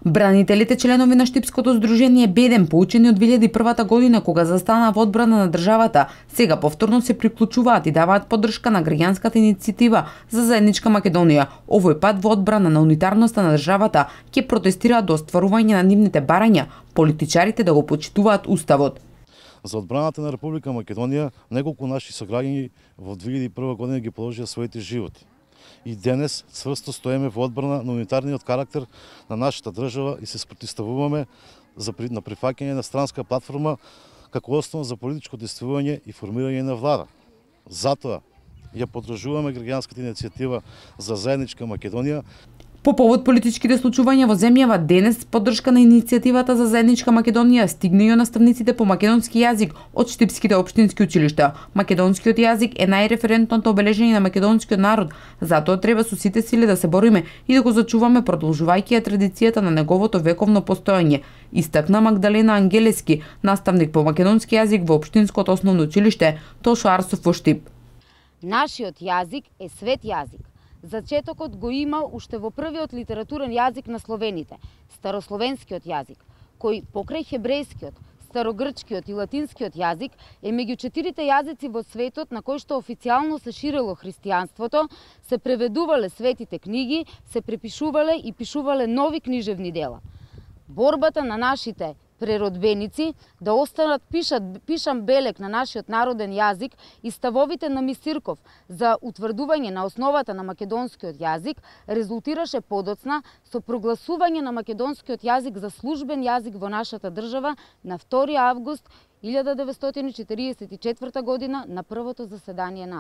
Бранителите, членови на Штипското здружение Беден, поучени од 2001 година кога застанаа во одбрана на државата, сега повторно се приклучуваат и даваат поддршка на граѓанската иницијатива за заедничка Македонија. Овој пат во одбрана на унитарноста на државата ќе протестираат до остварување на нивните барања, политичарите да го почитуваат уставот. За одбраната на Република Македонија неколку наши сограѓани во 2001 година ги положија своите животи. И денес цврсто стоеме во одбрана на унитарниот карактер на нашата држава и се спротивставуваме на прифаќање на странска платформа како основа за политичко действување и формирање на влада. Затоа ја поддржуваме граѓанската иницијатива за заедничка Македонија. По повод политичките случувања во земјава, денес поддршка на иницијативата за заедничка Македонија стигна и наставниците по македонски јазик од штипските општински училишта. Македонскиот јазик е најреферентното обележение на македонскиот народ, затоа треба со сите сили да се бориме и да го зачуваме, продолжувајќи ја традицијата на неговото вековно постоење, истакна Магдалена Ангелески, наставник по македонски јазик во општинското основно училиште Тошо Арсов во Штип. Нашиот јазик е свет јазик. Зачетокот го има уште во првиот литературен јазик на словените, старословенскиот јазик, кој покрај хебрејскиот, старогрчкиот и латинскиот јазик е меѓу 4 јазици во светот на кои што официјално се ширело христијанството, се преведувале светите книги, се препишувале и пишувале нови книжевни дела. Борбата на нашите преродбеници да останат пишан белег на нашиот народен јазик и ставовите на Мисирков за утврдување на основата на македонскиот јазик резултираше подоцна со прогласување на македонскиот јазик за службен јазик во нашата држава на 2 август 1944 година на првото заседание на